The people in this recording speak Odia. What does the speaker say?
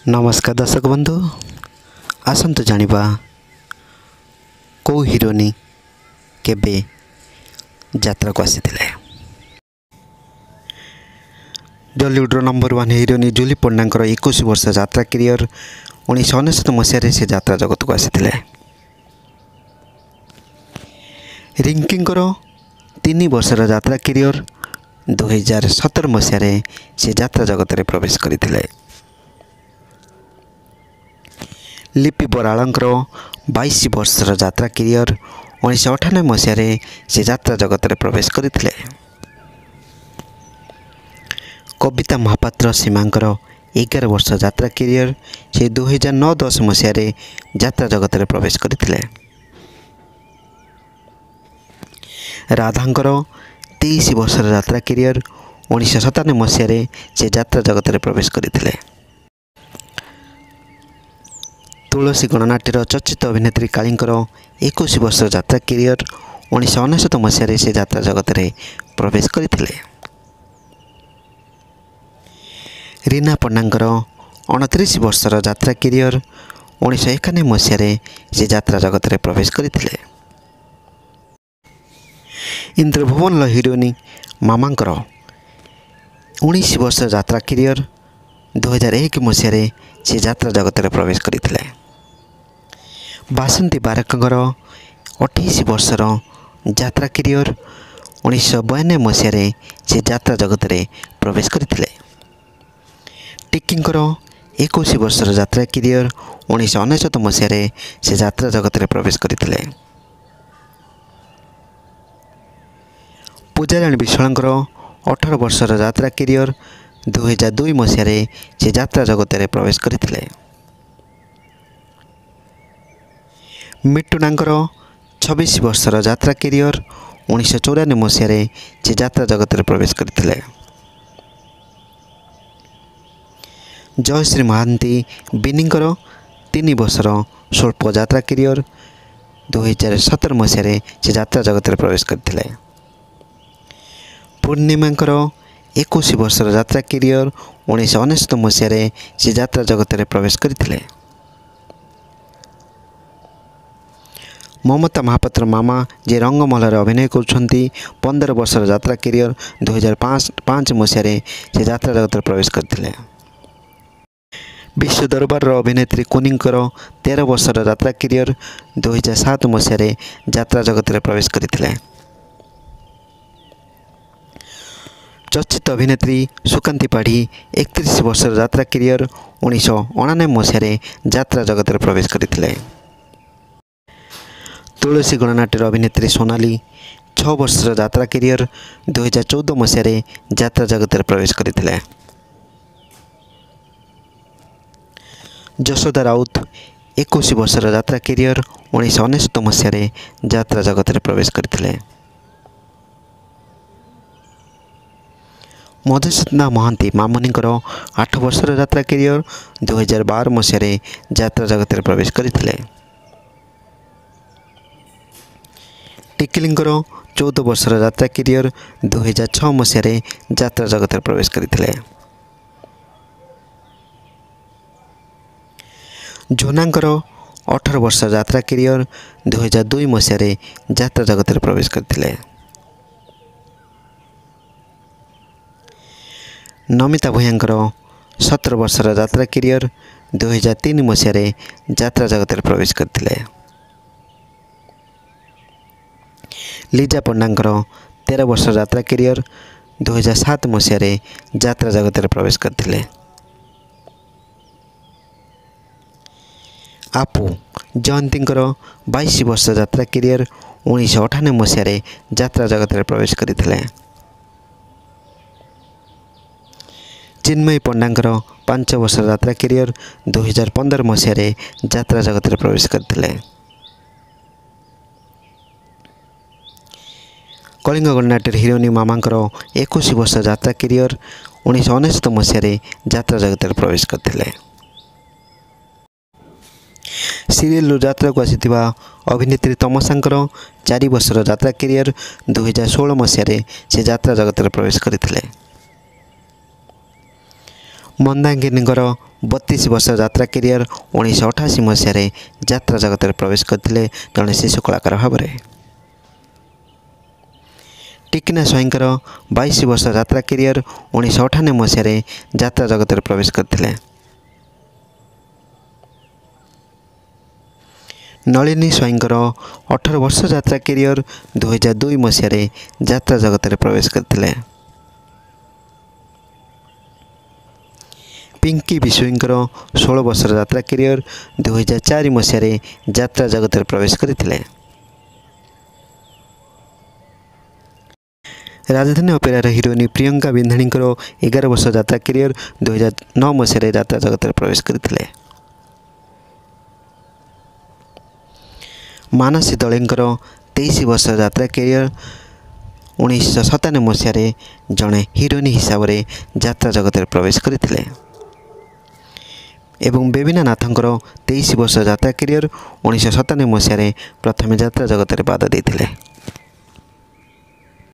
ନମସ୍କାର ଦର୍ଶକ ବନ୍ଧୁ, ଆସନ୍ତୁ ଜାଣିବା କେଉଁ ହିରୋଇନ୍ କେବେ ଯାତ୍ରାକୁ ଆସିଥିଲେ। ଜଲିଉଡ଼ର ନମ୍ବର 1 ହିରୋଇନ୍ ଜୁଲି ପଣ୍ଡାଙ୍କର 21 ବର୍ଷ ଯାତ୍ରା କ୍ୟାରିୟର। 1999 ମସିହାରେ ସେ ଯାତ୍ରା ଜଗତକୁ ଆସିଥିଲେ। ରିଙ୍କିଙ୍କର 3 ବର୍ଷର ଯାତ୍ରା କ୍ୟାରିୟର। 2017 ମସିହାରେ ସେ ଯାତ୍ରା ଜଗତରେ ପ୍ରବେଶ କରିଥିଲେ। ଲିପି ବରାଳଙ୍କର 22 ବର୍ଷର ଯାତ୍ରା କ୍ୟାରିୟର। 1998 ମସିହାରେ ସେ ଯାତ୍ରା ଜଗତରେ ପ୍ରବେଶ କରିଥିଲେ। କବିତା ମହାପାତ୍ର ସୀମାଙ୍କର 11 ବର୍ଷ ଯାତ୍ରା କ୍ୟାରିୟର। ସେ 2009-10 ମସିହାରେ ଯାତ୍ରା ଜଗତରେ ପ୍ରବେଶ କରିଥିଲେ। ରାଧାଙ୍କର 23 ବର୍ଷର ଯାତ୍ରା କ୍ୟାରିୟର। 1997 ମସିହାରେ ସେ ଯାତ୍ରା ଜଗତରେ ପ୍ରବେଶ କରିଥିଲେ। ତୁଳସୀ ଗଣନାଟ୍ୟର ଚର୍ଚ୍ଚିତ ଅଭିନେତ୍ରୀ କାଳୀଙ୍କର 21 ବର୍ଷର ଯାତ୍ରା କ୍ୟାରିୟର। 1999 ମସିହାରେ ସେ ଯାତ୍ରା ଜଗତରେ ପ୍ରବେଶ କରିଥିଲେ। ରୀନା ପଣ୍ଡାଙ୍କର 29 ବର୍ଷର ଯାତ୍ରା କ୍ୟାରିୟର। 1991 ମସିହାରେ ସେ ଯାତ୍ରା ଜଗତରେ ପ୍ରବେଶ କରିଥିଲେ। ଇନ୍ଦ୍ରଭୁବନର ହିରୋଇନ୍ ମାମାଙ୍କର 19 ବର୍ଷ ଯାତ୍ରା କ୍ୟାରିୟର। 2001 ମସିହାରେ ସେ ଯାତ୍ରା ଜଗତରେ ପ୍ରବେଶ କରିଥିଲେ। ବାସନ୍ତୀ ବାରକଙ୍କର 28 ବର୍ଷର ଯାତ୍ରା କ୍ୟାରିୟର। 1992 ମସିହାରେ ସେ ଯାତ୍ରା ଜଗତରେ ପ୍ରବେଶ କରିଥିଲେ। ଟିକିଙ୍କର 21 ବର୍ଷର ଯାତ୍ରା କ୍ୟାରିୟର। 1999 ମସିହାରେ ସେ ଯାତ୍ରା ଜଗତରେ ପ୍ରବେଶ କରିଥିଲେ। ପୂଜାରାଣୀ ବିଶ୍ୱାଳଙ୍କର 18 ବର୍ଷର ଯାତ୍ରା କ୍ୟାରିୟର। 2002 ମସିହାରେ ସେ ଯାତ୍ରା ଜଗତରେ ପ୍ରବେଶ କରିଥିଲେ। ମିଟୁନାଙ୍କର 26 ବର୍ଷର ଯାତ୍ରା କ୍ୟାରିୟର। 1994 ମସିହାରେ ସେ ଯାତ୍ରା ଜଗତରେ ପ୍ରବେଶ କରିଥିଲେ। ଜୟଶ୍ରୀ ମହାନ୍ତି ବିନିଙ୍କର 3 ବର୍ଷର ସ୍ୱଳ୍ପ ଯାତ୍ରା କ୍ୟାରିୟର। 2017 ମସିହାରେ ସେ ଯାତ୍ରା ଜଗତରେ ପ୍ରବେଶ କରିଥିଲେ। ପୂର୍ଣ୍ଣିମାଙ୍କର 21 ବର୍ଷର ଯାତ୍ରା କ୍ୟାରିୟର। 1999 ମସିହାରେ ସେ ଯାତ୍ରା ଜଗତରେ ପ୍ରବେଶ କରିଥିଲେ। ମମତା ମହାପାତ୍ର ମାମା, ଯିଏ ରଙ୍ଗମହଲରେ ଅଭିନୟ କରୁଛନ୍ତି, 15 ବର୍ଷର ଯାତ୍ରା କ୍ୟାରିୟର। 2005 ମସିହାରେ ସେ ଯାତ୍ରା ଜଗତରେ ପ୍ରବେଶ କରିଥିଲେ। ବିଶ୍ୱ ଦରବାରର ଅଭିନେତ୍ରୀ କୁନିଙ୍କର 13 ବର୍ଷର ଯାତ୍ରା କ୍ୟାରିୟର। 2007 ମସିହାରେ ଯାତ୍ରା ଜଗତରେ ପ୍ରବେଶ କରିଥିଲେ। ଚର୍ଚ୍ଚିତ ଅଭିନେତ୍ରୀ ସୁକାନ୍ତି ପାଢ଼ୀ 31 ବର୍ଷର ଯାତ୍ରା କ୍ୟାରିୟର। 1989 ମସିହାରେ ଯାତ୍ରା ଜଗତରେ ପ୍ରବେଶ କରିଥିଲେ। ତୁଳସୀ ଗଣନାଟ୍ୟର ଅଭିନେତ୍ରୀ ସୋନାଲି 6 ବର୍ଷର ଯାତ୍ରା କ୍ୟାରିୟର। 2014 ମସିହାରେ ଯାତ୍ରା ଜଗତରେ ପ୍ରବେଶ କରିଥିଲେ। ଯଶୋଦା ରାଉତ 21 ବର୍ଷର ଯାତ୍ରା କ୍ୟାରିୟର। 1999 ମସିହାରେ ଯାତ୍ରା ଜଗତରେ ପ୍ରବେଶ କରିଥିଲେ। ମଧୁସ୍ମିତା ମହାନ୍ତି ମାମୁନିଙ୍କର 8 ବର୍ଷର ଯାତ୍ରା କ୍ୟାରିୟର। 2012 ମସିହାରେ ଯାତ୍ରା ଜଗତରେ ପ୍ରବେଶ କରିଥିଲେ। ଟିକିଲିଙ୍କର 14 ବର୍ଷର ଯାତ୍ରା କ୍ୟାରିୟର। 2006 ମସିହାରେ ଯାତ୍ରା ଜଗତରେ ପ୍ରବେଶ କରିଥିଲେ। ଝୁନାଙ୍କର 18 ବର୍ଷ ଯାତ୍ରା କ୍ୟାରିୟର। 2002 ମସିହାରେ ଯାତ୍ରା ଜଗତରେ ପ୍ରବେଶ କରିଥିଲେ। ନମିତା ଭୂୟାଁଙ୍କର 17 ବର୍ଷର ଯାତ୍ରା କ୍ୟାରିୟର। 2003 ମସିହାରେ ଯାତ୍ରା ଜଗତରେ ପ୍ରବେଶ କରିଥିଲେ। ଲିଜା ପଣ୍ଡାଙ୍କର 13 ବର୍ଷ ଯାତ୍ରା କ୍ୟାରିୟର। 2007 ମସିହାରେ ଯାତ୍ରା ଜଗତରେ ପ୍ରବେଶ କରିଥିଲେ। ଆପୁ ଜୟନ୍ତୀଙ୍କର 22 ବର୍ଷ ଯାତ୍ରା କ୍ୟାରିୟର। 1998 ମସିହାରେ ଯାତ୍ରା ଜଗତରେ ପ୍ରବେଶ କରିଥିଲେ। ଚିନ୍ମୟୀ ପଣ୍ଡାଙ୍କର 5 ବର୍ଷ ଯାତ୍ରା କ୍ୟାରିୟର। 2015 ମସିହାରେ ଯାତ୍ରା ଜଗତରେ ପ୍ରବେଶ କରିଥିଲେ। କଳିଙ୍ଗ ଗଣନାଟ୍ୟର ହିରୋଇନ୍ ମାମାଙ୍କର 21 ବର୍ଷ ଯାତ୍ରା କ୍ୟାରିୟର। 1999 ମସିହାରେ ଯାତ୍ରା ଜଗତରେ ପ୍ରବେଶ କରିଥିଲେ। ସିରିଏଲରୁ ଯାତ୍ରାକୁ ଆସିଥିବା ଅଭିନେତ୍ରୀ ତମସାଙ୍କର 4 ବର୍ଷର ଯାତ୍ରା କ୍ୟାରିୟର। 2016 ମସିହାରେ ସେ ଯାତ୍ରା ଜଗତରେ ପ୍ରବେଶ କରିଥିଲେ। ମନ୍ଦାକିନୀଙ୍କର 32 ବର୍ଷ ଯାତ୍ରା କ୍ୟାରିୟର, 1988 ମସିହାରେ ଯାତ୍ରା ଜଗତରେ ପ୍ରବେଶ କରିଥିଲେ ଜଣେ ଶିଶୁ କଳାକାର ଭାବରେ। ଟିକିନା ସ୍ୱାଇଁଙ୍କର 22 ବର୍ଷ ଯାତ୍ରା କ୍ୟାରିୟର, 1998 ମସିହାରେ ଯାତ୍ରା ଜଗତରେ ପ୍ରବେଶ କରିଥିଲେ। ନଳିନୀ ସ୍ୱାଇଁଙ୍କର 18 ବର୍ଷ ଯାତ୍ରା କ୍ୟାରିୟର, 2002 ମସିହାରେ ଯାତ୍ରା ଜଗତରେ ପ୍ରବେଶ କରିଥିଲେ। ପିଙ୍କି ବିଶୋଇଙ୍କର 16 ବର୍ଷର ଯାତ୍ରା କ୍ୟାରିୟର, 2004 ମସିହାରେ ଯାତ୍ରା ଜଗତରେ ପ୍ରବେଶ କରିଥିଲେ। ରାଜଧାନୀ ଅପେରାର ହିରୋଇନ୍ ପ୍ରିୟଙ୍କା ବିନ୍ଧାଣୀଙ୍କର 11 ବର୍ଷ ଯାତ୍ରା କ୍ୟାରିୟର, 2009 ମସିହାରେ ଯାତ୍ରା ଜଗତରେ ପ୍ରବେଶ କରିଥିଲେ। ମାନସୀ ଦଳେଙ୍କର 23 ବର୍ଷ ଯାତ୍ରା କ୍ୟାରିୟର, 1997 ମସିହାରେ ଜଣେ ହିରୋଇନ୍ ହିସାବରେ ଯାତ୍ରା ଜଗତରେ ପ୍ରବେଶ କରିଥିଲେ। ଏବଂ ବେବିନା ନାଥଙ୍କର 23 ବର୍ଷ ଯାତ୍ରା କ୍ୟାରିୟର, 1997 ମସିହାରେ ପ୍ରଥମେ ଯାତ୍ରା ଜଗତରେ ପାଦ ଦେଇଥିଲେ।